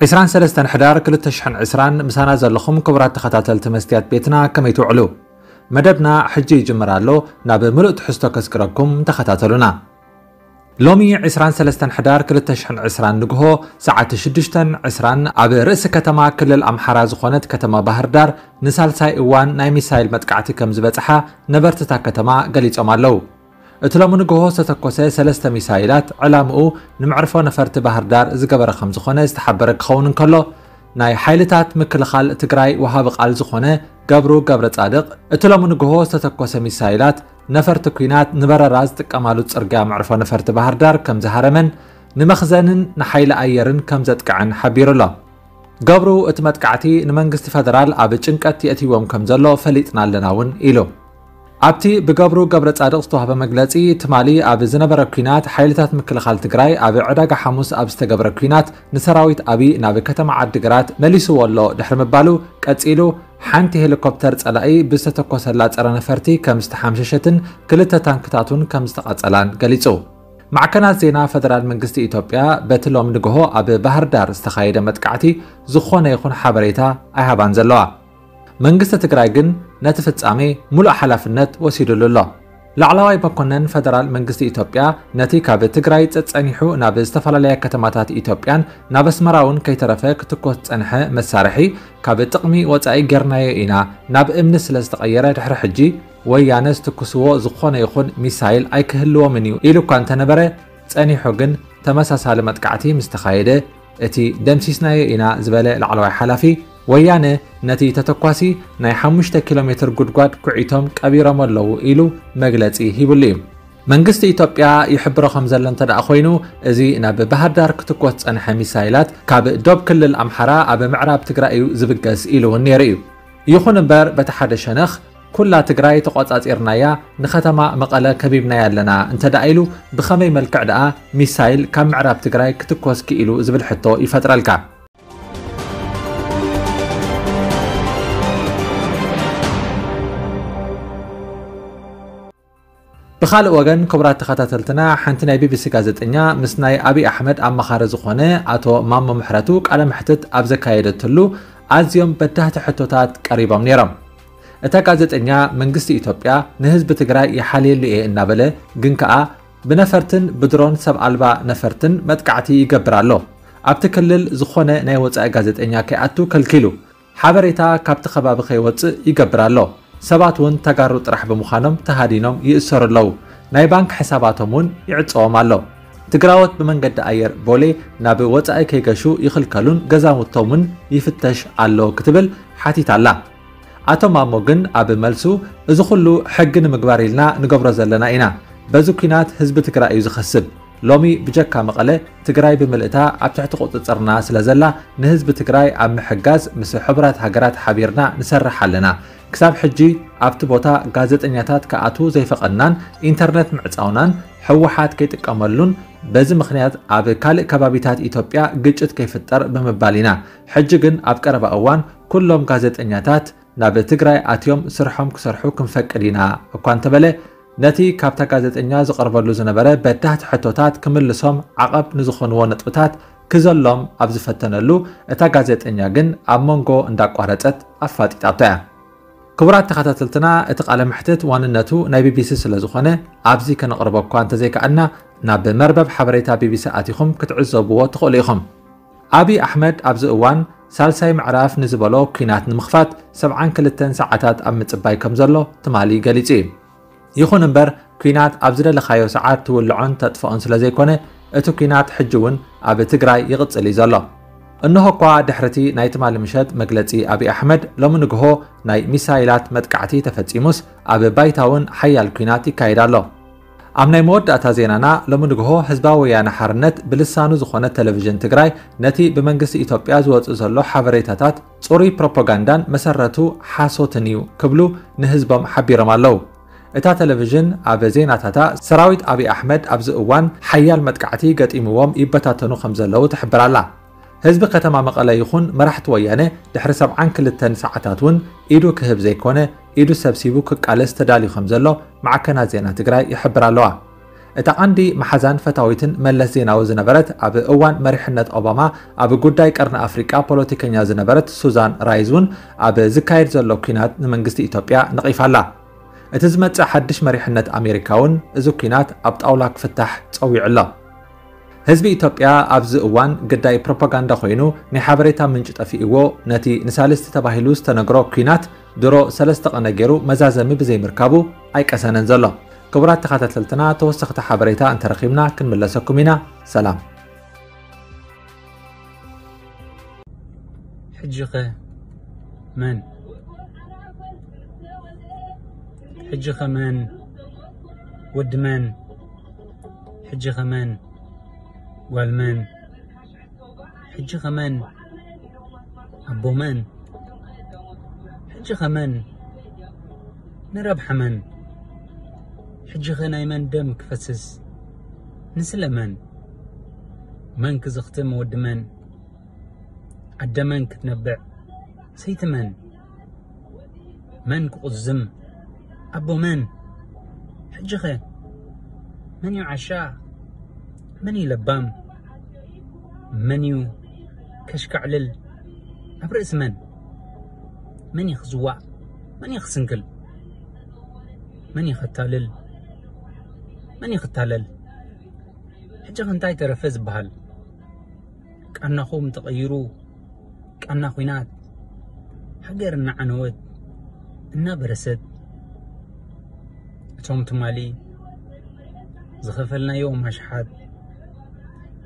ዕስራን ሰለስተን ሕዳር ክልተ ሽሕን ዕስራን ምሳና ዘለኹም ክቡራት ተኸታተልቲ መስትያት ቤትና ከመይ ትውዕሉ? መደብና ሕጂ ይጅምር ኣሎ። ናብ ምሉእ ትሕዝቶ ከስግረኩም ተኸታተሉና። ሎሚ ዕስራን ሰለስተን ሕዳር ክልተ ሽሕን ዕስራን ንግሆ ሰዓት ሽዱሽተን ዕስራን ኣብ ርእሲ ከተማ ክልል ኣምሓራ ዝኾነት ከተማ ባህር ዳር ንሳልሳይ እዋን ናይ ሚሳይል መጥቃዕቲ ከም ዝበጽሓ ነበርትታ ከተማ ገሊጾም ኣለዉ። እቲ ሎሚ ንግሆ ዝተተኮሰ ሰለስተ ሚሳይላት ዕላምኡ ንመዕርፎ ነፈርቲ ባህር ዳር ዝገበረ ከም ዝኾነ ዝተሓበረ ክኸውን እንከሎ፣ ናይ ሓይልታት ምክልኻል ትግራይ ወሃቢ ቃል ዝኾነ ገብሩ ገብረ ጻድቕ፣ እቲ ሎሚ ንግሆ ዝተተኮሰ ሚሳይላት ነፈርቲ ኲናት ንበረራ ዝጥቀማሉ ጽርግያ መዕርፎ ነፈርቲ ባህር ዳር ከም ዝሃረመን ንመኽዘንን ንሓይሊ ኣየርን ከም ዘጥቅዐን ሓቢሩ ኣሎ። ገብሩ፣ እቲ መጥቃዕቲ ንመንግስቲ ፈደራል ኣብ ጭንቀት የእትይዎም ከም ዘሎ ፈሊጥና ኣለና እውን ኢሉ። ኣብቲ ብገብሩ ገብረ ጻድቕ ዝተዋህበ መግለጺ፣ ትማሊ ኣብ ዝነበረ ኲናት ሓይልታት ምክልኻል ትግራይ ኣብ ዕዳጋ ሓሙስ ኣብ ዝተገብረ ኲናት ንሰራዊት ኣብይ ናብ ከተማ ዓዲግራት መሊስዎ ኣሎ ድሕሪ ምባሉ፣ ቀጺሉ ሓንቲ ሄሊኮፕተር ጸላኢ ብዝተተኮሰላ ጸረ ነፈርቲ ከም ዝተሓምሸሸትን ክልተ ታንክታት እውን ከም ዝተቓጸላን ገሊጹ። ማዕከናት ዜና ፈደራል መንግስቲ ኢትዮጵያ በቲ ሎም ንግሆ ኣብ ባህር ዳር ዝተኻየደ መጥቃዕቲ ዝኾነ ይኹን ሓበሬታ ኣይሃባን ዘለዋ። መንግስቲ ትግራይ ግን ነቲ ፍጻሜ ሙሉእ ሓላፍነት ወሲዱሉ ኣሎ። ላዕለዋይ መኮነን ፈደራል መንግስቲ ኢትዮጵያ ነቲ ካብ ትግራይ ጸጸኒሑ ናብ ዝተፈላለያ ከተማታት ኢትዮጵያን ናብ ኣስመራ እውን ከይተረፈ ክትኮስ ዝጸንሐ መሳርሒ ካብ ጥቕሚ ወጻኢ ጌርናዮ ኢና፣ ናብ እምኒ ስለ ዝተቐየረ ድሕሪ ሕጂ ወያነ ዝትኩስዎ ዝኾነ ይኹን ሚሳይል ኣይክህልዎምን እዩ ኢሉ እኳ እንተነበረ፣ ጸኒሑ ግን ተመሳሳሊ መጥቃዕቲ ምስ ተኻየደ፣ እቲ ደምሲስናዮ ኢና ዝበለ ላዕለዋይ ሓላፊ፣ ወያነ ነቲ ተተኳሲ ናይ ሓሙሽተ ኪሎ ሜትር ጉድጓድ ኩዒቶም ቀቢሮም ኣለዉ ኢሉ መግለጺ ሂብሉ እዩ። መንግስቲ ኢትዮጵያ ይሕብሮ ከም ዘሎ እንተ ደኣ ኮይኑ፣ እዚ ናብ ባህር ዳር ክትኮስ ዝጸንሐ ሚሳይላት ካብ ዶብ ክልል ኣምሓራ ኣብ ምዕራብ ትግራይ እዩ ዝብገስ ኢሉ እውን ነይሩ እዩ። ይኹን እምበር፣ በቲ ሓደ ሸነኽ፣ ኩላ ትግራይ ተቖጻጺርናያ፣ ንከተማ መቐለ ከቢብናያ ኣለና እንተ ደኣ ኢሉ፣ ብኸመይ መልክዕ ደኣ ሚሳይል ካብ ምዕራብ ትግራይ ክትኮስ ክኢሉ ዝብል ሕቶ ይፈጥረልካ። ብኻልእ ወገን፣ ክቡራት ተኸታተልትና፣ ሓንቲ ናይ ቢቢሲ ጋዜጠኛ ምስ ናይ ኣብይ ኣሕመድ ኣማኻሪ ዝኾነ ኣቶ ማሞ ምሕረቱ ቃለ መሕትት ኣብ ዘካየደትሉ፣ ኣዝዮም በዳህቲ ሕቶታት ቀሪቦም ነይሮም። እታ ጋዜጠኛ፣ መንግስቲ ኢትዮጵያ ንህዝቢ ትግራይ ይሓልየሉ እየ እናበለ፣ ግን ከኣ ብነፈርትን ብድሮን ሰብ ኣልባ ነፈርትን መጥቃዕቲ ይገብር ኣሎ። ኣብቲ ክልል ዝኾነ ናይ ወጻኢ ጋዜጠኛ ከይኣቱ ከልኪሉ፣ ሓበሬታ ካብቲ ከባቢ ከይወጽእ ይገብር ኣሎ። ሰባት እውን ተጋሩ ጥራሕ ብምዃኖም ተሃዲኖም ይእሰሩ ኣለዉ። ናይ ባንክ ሕሳባቶም እውን ይዕጸዎም ኣሎ። ትግራዎት ብመንገዲ ኣየር ቦሌ ናብ ወጻኢ ከይገሹ ይኽልከሉን ገዛውቶም እውን ይፍተሽ ኣሎ ክትብል ሓቲታ ኣላ። ኣቶ ማሞ ግን ኣብ መልሱ፣ እዚ ኩሉ ሕጊ ንምግባር ኢልና ንገብሮ ዘለና ኢና። በዚ ኲናት ህዝቢ ትግራይ እዩ ዝኸስብ። ሎሚ ብጀካ መቐለ፣ ትግራይ ብምልእታ ኣብ ትሕቲ ቁጽጽርና ስለ ዘላ፣ ንህዝቢ ትግራይ ኣብ ምሕጋዝ ምስ ሕቡራት ሃገራት ሓቢርና ንሰርሕ ኣለና። ክሳብ ሕጂ ኣብቲ ቦታ ጋዜጠኛታት ክኣትዉ ዘይፈቐድናን ኢንተርነት ምዕጻውናን ህወሓት ከይጥቀመሉን በዚ ምኽንያት ኣብ ካልእ ከባቢታት ኢትዮጵያ ግጭት ከይፍጠር ብምባል ኢና። ሕጂ ግን ኣብ ቀረባ እዋን ኩሎም ጋዜጠኛታት ናብ ትግራይ ኣትዮም ስርሖም ክሰርሑ ክንፈቅድ ኢና እኳ እንተበለ፣ ነቲ ካብታ ጋዜጠኛ ዝቐርበሉ ዝነበረ በዳህቲ ሕቶታት ክምልሶም ዓቐብ ንዝኾንዎ ነጥብታት ክዘሎም ኣብ ዝፈተነሉ፣ እታ ጋዜጠኛ ግን ኣብ መንጎ እንዳቋረጸት ኣፋጢጣቶ እያ። ክቡራት ተኸታተልትና፣ እቲ ቃለ መሕትት ዋንነቱ ናይ ቢቢሲ ስለ ዝኾነ፣ ኣብዚ ከነቕርቦ እኳ እንተዘይከኣልና፣ ናብ መርበብ ሓበሬታ ቢቢሲ ኣቲኹም ክትዕዘብዎ ትኽእሉ ኢኹም። ኣብይ ኣሕመድ ኣብዚ እዋን ሳልሳይ ምዕራፍ ንዝበሎ ኲናት ንምኽፋት ሰብዓን ክልተን ሰዓታት ኣብ ምጽባይ ከም ዘሎ ትማሊ ገሊጹ እዩ። ይኹን እምበር፣ ኲናት ኣብ ዝደለኻዮ ሰዓት ትውልዖን ተጥፍኦን ስለ ዘይኮነ፣ እቲ ኲናት ሕጂ እውን ኣብ ትግራይ ይቕጽል እዩ ዘሎ። እንሆ እኳ ድሕሪ እቲ ናይ ትማሊ ምሸት መግለጺ ኣብይ ኣሕመድ፣ ሎሚ ንግሆ ናይ ሚሳይላት መጥቃዕቲ ተፈጺሙስ፣ ኣብ ባይታ እውን ሓያል ኲናት ይካየድ ኣሎ። ኣብ ናይ መወዳእታ ዜናና፣ ሎሚ ንግሆ ህዝባዊ ወያነ ሓርነት ብልሳኑ ዝኾነ ቴሌቪዥን ትግራይ ነቲ ብመንግስቲ ኢትዮጵያ ዝወጽእ ዘሎ ሓበሬታታት ጽሩይ ፕሮፓጋንዳን መሰረቱ ሓሶትን እዩ ክብሉ ንህዝቦም ሓቢሮም ኣለዉ። እታ ቴሌቪዥን ኣብ ዜናታታ፣ ሰራዊት ኣብይ ኣሕመድ ኣብዚ እዋን ሓያል መጥቃዕቲ ገጢምዎም ይበታተኑ ከም ዘለዉ ትሕብር ኣላ። ህዝቢ ከተማ መቐለ ይኹን መራሕቲ ወያነ ድሕሪ ሰብዓን ክልተን ሰዓታት እውን ኢዱ ክህብ ዘይኮነ፣ ኢዱ ሰብሲቡ ክቃለስ ተዳልዩ ከም ዘሎ ማዕከናት ዜና ትግራይ ይሕብር ኣለዋ። እታ ቀንዲ መሓዛን ፈታዊትን መለስ ዜናዊ ዝነበረት፣ ኣብ እዋን መሪሕነት ኦባማ ኣብ ጉዳይ ቀርኒ ኣፍሪቃ ፖለቲከኛ ዝነበረት ሱዛን ራይዝ እውን፣ ኣብ ዝካየድ ዘሎ ኲናት ንመንግስቲ ኢትዮጵያ ነቒፋ ኣላ። እቲ ዝመጽእ ሓድሽ መሪሕነት ኣሜሪካ እውን እዚ ኲናት ኣብ ጣውላ ክፍታሕ ጸዊዑ ኣሎ። ህዝቢ ኢትዮጵያ ኣብዚ እዋን ግዳይ ፕሮፓጋንዳ ኮይኑ፣ ናይ ሓበሬታ ምንጪ ጠፊእዎ፣ ነቲ ንሳልስቲ ተባሂሉ ዝተነግሮ ኲናት ድሮ ሰለስተ ቀነ ገይሩ መዛዘሚ ብዘይምርካቡ ኣይቀሰነን ዘሎ። ክቡራት ተኸታተልትና፣ ተወሰኽቲ ሓበሬታ እንተረኺብና ክንምለሰኩም ኢና። ሰላም። ሕጂኸ መን? ሕጂኸ መን? ወዲ መን? ሕጂኸ መን? ጓል መን? ሕጂኸ መን? ኣቦ መን? ሕጂኸ መን? ንረብሓ መን? ሕጂኸ ናይ መን ደም ክፈስስ? ንስለ መን? መን ክዝኽትም ወዲ መን? ኣደ መን ክትነብዕ? ሰይቲ መን? መን ክቑዝም? ኣቦ መን? ሕጂኸ መን እዩ ዓሻ? መን እዩ ለባም? መን እዩ ከሽካዕልል? ኣብ ርእሲ መን? መን እዩ ክዝዋእ? መን እዩ ክስንክል? መን እዩ ከታልል? መን እዩ ክታለል? ሕጂ እንታይ ተረፈ ዝበሃል? ቃናኹም ተቐይሩ፣ ቃና ኲናት፣ ሃገር እናዓነወት፣ እናበረሰት፣ እቶም ትማሊ ዝኸፈልናዮም ኣሽሓት፣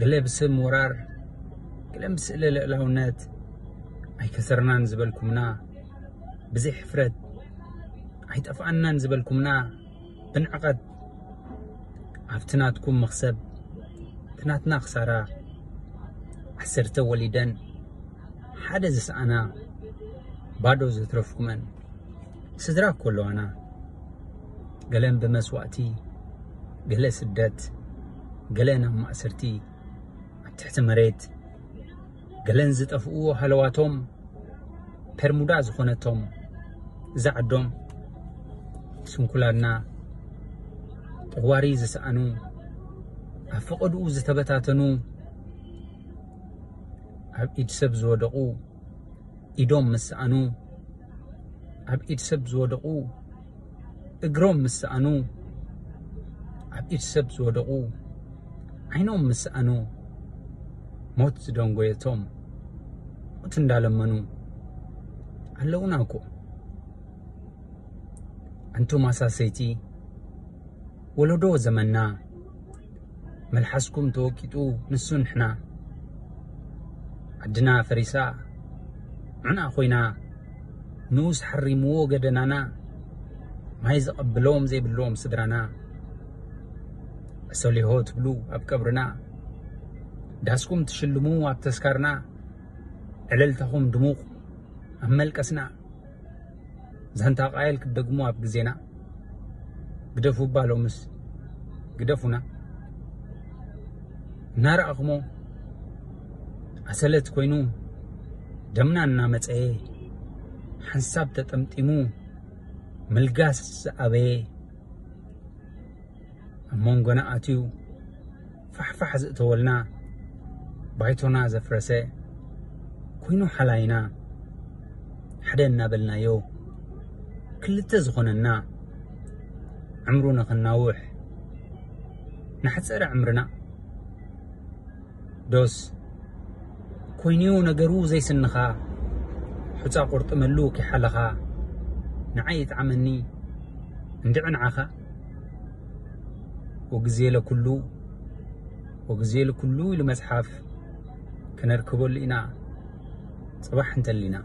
ገለ ብስም ወራር፣ ገለ ብስእለ ልእላውነት፣ ኣይከሰርናን ዝበልኩምና፣ ብዘይ ሕፍረት፣ ኣይጠፍኣናን ዝበልኩምና፣ ብንዕቐት፣ ኣብቲ ናትኩም መኽሰብ፣ እቲ ናትና ክሳራ፣ ዓሰርተ ወሊደን ሓደ ዝሰኣና፣ ባዶ ዘትረፍኩመን ስድራ እኮ ኣለዋና። ገለን ብመስዋእቲ፣ ገለ ስደት፣ ገለ ናብ ማእሰርቲ፣ ኣብ ትሕቲ መሬት፣ ገለን ዝጠፍኡ ሃለዋቶም፣ ፐርሙዳ ዝኾነቶም እዛ ዓዶም፣ ስንኩላና፣ ጠዋሪ ዝሰኣኑ፣ ኣብ ፈቐድኡ ዝተበታተኑ፣ ኣብ ኢድ ሰብ ዝወደቑ፣ ኢዶም ምስ ሰኣኑ፣ ኣብ ኢድ ሰብ ዝወደቑ፣ እግሮም ምስ ሰኣኑ፣ ኣብ ኢድ ሰብ ዝወደቑ፣ ዓይኖም ምስ ሰኣኑ፣ ሞት ዝደንጎየቶም፣ ሞት እንዳለመኑ ኣለዉና እኮ። ኣንቱም ኣሳሰይቲ፣ ወለዶ ዘመንና፣ መልሓስኩም ተወቂጡ ንሱ ንሕና። ዓድና ፈሪሳ፣ ዑና ኮይና፣ ንኡስ ሓሪምዎ ገደናና፣ ማይ ዘቐብሎም ዘይብሎም ስድራና። ዕሰሊሆ ትብሉ ኣብ ቀብርና፣ ዳስኩም ትሽልሙ ኣብ ተስካርና፣ ዕልልታኹም ድሙቕ ኣብ መልቀስና። ዛንታ ቃየል ክትደግሙ ኣብ ግዜና፣ ግደፉ እባ ሎምስ ግደፉና። እናረኣኹሞ ኣሰለት ኮይኑ ደምና እናመጸየ፣ ሓንሳብ ተጠምጢሙ ምልጋስ ዝኣበየ፣ ኣብ መንጎና ኣትዩ ፋሕፋሕ ዘእተወልና፣ ባይቶና ዘፍረሰ፣ ኮይኑ ሓላይና፣ ሓደ እናበልናዮ ክልተ ዝኾነና፣ ዕምሩ ንኽናውሕ ንሓጸረ ዕምርና። ዶስ ኮይኑዩ ነገሩ ዘይስንኻ፣ ሑጻ ቁርጥመሉ ከይሓለኻ፣ ንዓይ ይጥዓመኒ እንድዒ ንዓኻ። ወግዜ ለኩሉ፣ ወግዜ ለኩሉ ኢሉ መጽሓፍ፣ ከነርክበሉ ኢና ጽባሕ እንተሊና።